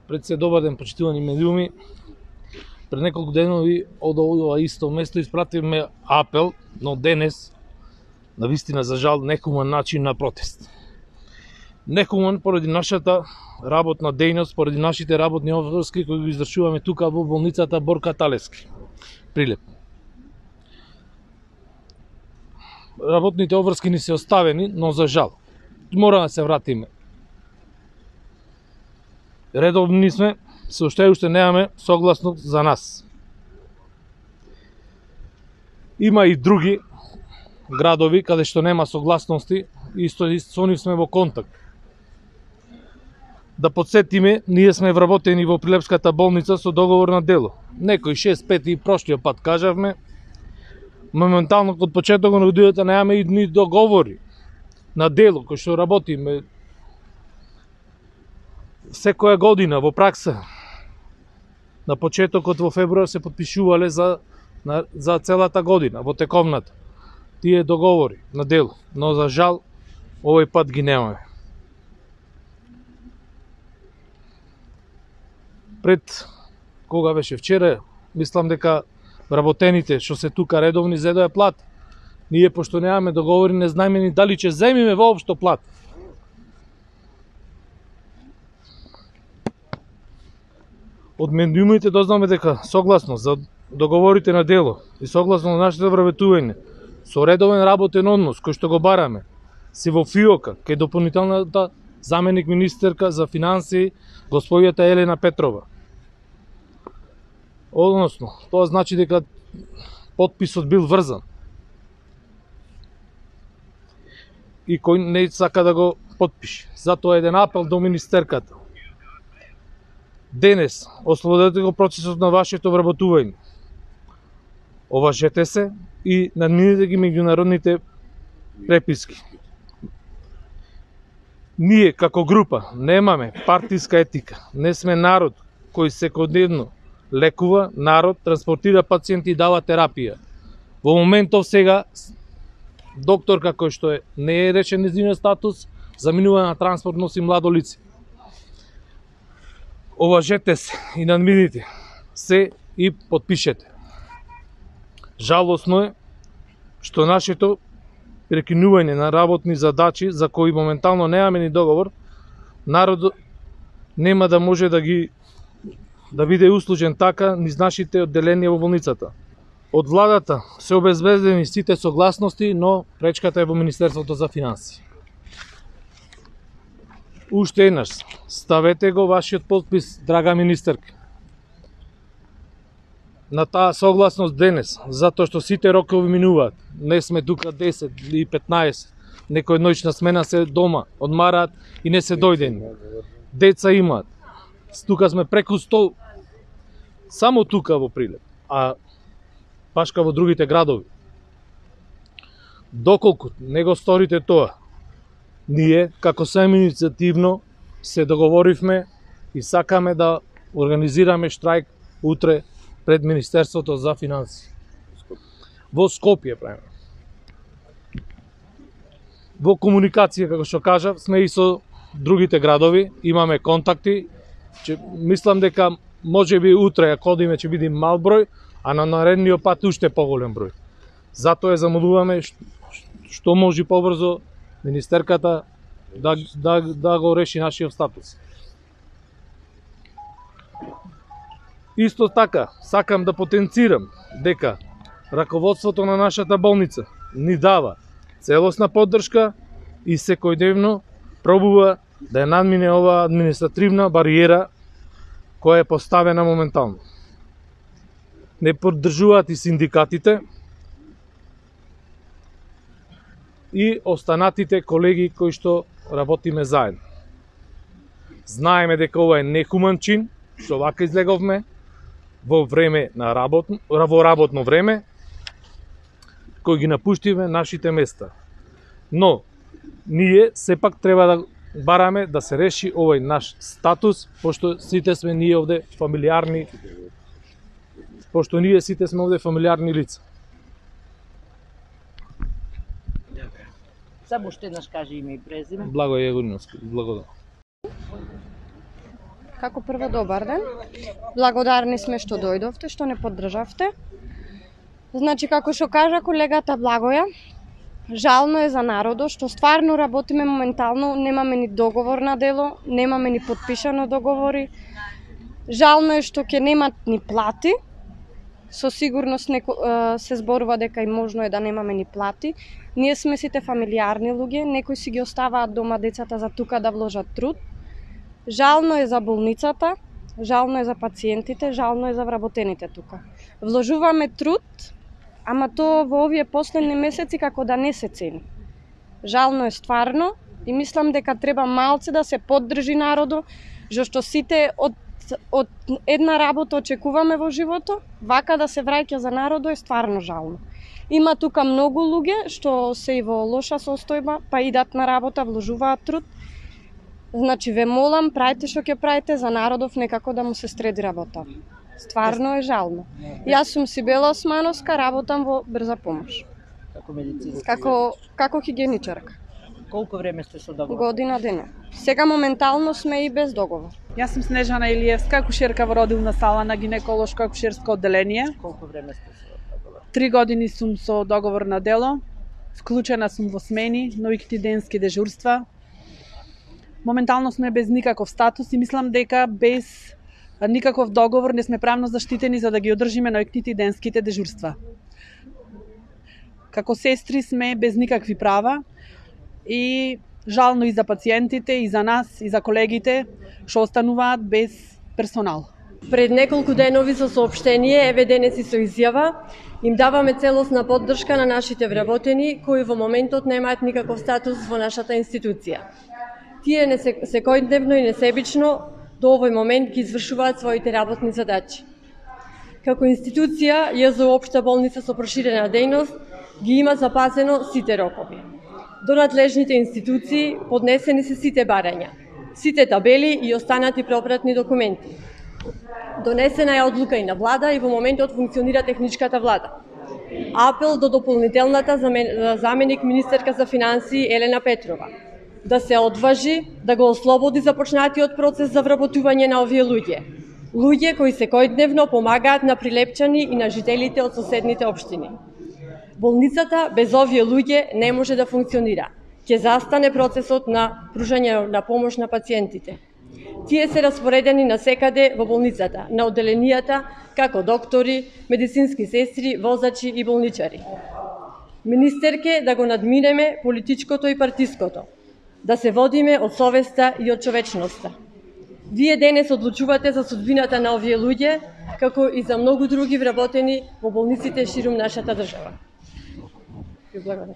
Пред се добар ден, почитувани медиуми. Пред неколку денови од ова исто место испративме апел, но денес, на вистина за жал, нехуман начин на протест. Нехуман поради нашата работна дејност, поради нашите работни обврски кои ги извршуваме тука во болницата Борка Талевски, Прилеп. Работните обврски ни се оставени, но за жал, мора да се вратиме. Редовни сме, се уште немаме согласност за нас. Има и други градови каде што нема согласности, исто со нив сме во контакт. Да подсетиме, ние сме вработени во Прилепската болница со договор на дело. Некој 6-5 и прошлиот пат кажавме, моментално од почетокот на годината немаме и ни договори на дело кој што работиме секоја година во пракса. На почетокот во февруар се подпишувале за целата година, во тековната. Тие договори на дело, но за жал овој пат ги немаме. Пред кога беше вчера, мислам дека вработените што се тука редовни зедоја плата. Ние пошто немаме договори, не знаеме ни дали ќе земиме воопшто плата. Од медиумите дознаме дека согласно за договорите на дело и согласно на нашите вработување со редовен работен однос кој што го бараме си во ФИОКа кај дополнителната заменик министерка за финансии господјата Елена Петрова. Односно, тоа значи дека потписот бил врзан и кој не сака да го потпише. Затоа еден апел до министерката. Денес, ослободете го процесот на вашето вработување. Оважете се и надминете ги меѓународните преписки. Ние, како група, немаме партиска етика. Не сме народ кој секојдневно лекува, народ, транспортира пациенти и дава терапија. Во моментов сега, докторка кој што не е решен нејзиниот статус, заминува на транспорт, носи младо лице. Оважете се и надмините се и подпишете. Жалосно е што нашето прекинување на работни задачи за кои моментално немаме ни договор, народот нема да може да биде услужен така низ нашите одделенија во болницата. Од владата се обезбедени сите согласности, но пречката е во Министерството за финансии. Уште еднаш, ставете го вашиот подпис, драга министерка, на таа согласност денес, затоа што сите рокови минуваат. Не сме тука 10 или 15, некој ноќна смена се дома, одмараат и не се дојдени. Деца имаат. Тука сме преку 100, само тука во Прилеп, а башка во другите градови. Доколку не го сторите тоа, ние, како самоиницијативно, се договоривме и сакаме да организираме штрајк утре пред Министерството за финансии. Во Скопје правиме. Во комуникација, како што кажав, сме и со другите градови, имаме контакти. Мислам дека можеби утре, ако одиме, ќе биде мал број, а на наредниот пат уште поголем број. Затоа замолуваме што може побрзо министерката да го реши нашиот статус. Исто така, сакам да потенцирам дека раководството на нашата болница ни дава целосна поддршка и секојдневно пробува да ја надмине оваа административна бариера која е поставена моментално. Не поддржуваат и синдикатите и останатите колеги кои што работиме заедно. Знаеме дека ова е нехуман чин, што вака излеговме во време на работно време, кој ги напуштиме нашите места. Но, ние сепак треба да бараме да се реши овој наш статус, пошто сите сме ние овде фамилиарни, лица. Само уште еднаш кажи име и презиме. Благој Јегориновски, благодарам. Како прво, добар ден. Благодарни сме што дојдовте, што не поддржавте. Значи, како што кажа колегата Благоја, жално е за народот што стварно работиме моментално, немаме ни договор на дело, немаме ни подпишано договори. Жално е што ќе немат ни плати. Со сигурност се зборува дека и можно е да немаме ни плати. Ние сме сите фамилиарни луѓе, некои си ги оставаат дома децата за тука да вложат труд. Жално е за болницата, жално е за пациентите, жално е за вработените тука. Вложуваме труд, ама тоа во овие последни месеци како да не се цени. Жално е стварно и мислам дека треба малце да се поддржи народот, зашто сите од една работа очекуваме во живото, вака да се враќа за народот е стварно жално. Има тука многу луѓе што се и во лоша состојба, па идат на работа, вложуваат труд. Значи ве молам, правите што ќе правите за народов, некако да му се среди работа. Стварно е жално. Јас сум Сибела Османовска, работам во брза помош. Како медицинска. Како хигиеничарка. Колку време сте со договор? Година дена. Сега моментално сме и без договор. Јас сум Снежана Илиевска, акушерка во родилна сала на гинеколошко акушерско одделение. Колку време сте со договор? 3 години сум со договор на дело. Вклучена сум во смени, ноќни денски дежурства. Моментално сме без никаков статус и мислам дека без никаков договор не сме правно заштитени за да ги одржиме ноќните и денските дежурства. Како сестри сме без никакви права и жално и за пациентите, и за нас, и за колегите што остануваат без персонал. Пред неколку денови со соопштение, еве денес и со изјава, им даваме целосна поддршка на нашите вработени кои во моментот немаат никаков статус во нашата институција. Тие секојдневно и несебично до овој момент ги извршуваат своите работни задачи. Како институција, ЈЗУ Општа болница со проширена дејност ги има запазено сите рокови. До надлежните институции поднесени се сите барања, сите табели и останати пропратни документи. Донесена е одлука и на влада и во моментот функционира техничката влада. Апел до дополнителната заменик министерка за финансии Елена Петрова да се одважи да го ослободи започнатиот процес за вработување на овие луѓе. Луѓе кои секојдневно помагаат на Прилепчани и на жителите од соседните општини. Болницата без овие луѓе не може да функционира. Ќе застане процесот на пружање на помош на пациентите. Тие се распоредени на секаде во болницата, на одделенијата, како доктори, медицински сестри, возачи и болничари. Министерке да го надминеме политичкото и партиското, да се водиме од совеста и од човечноста. Вие денес одлучувате за судбината на овие луѓе, како и за многу други вработени во болниците ширум нашата држава. Ви благодарам.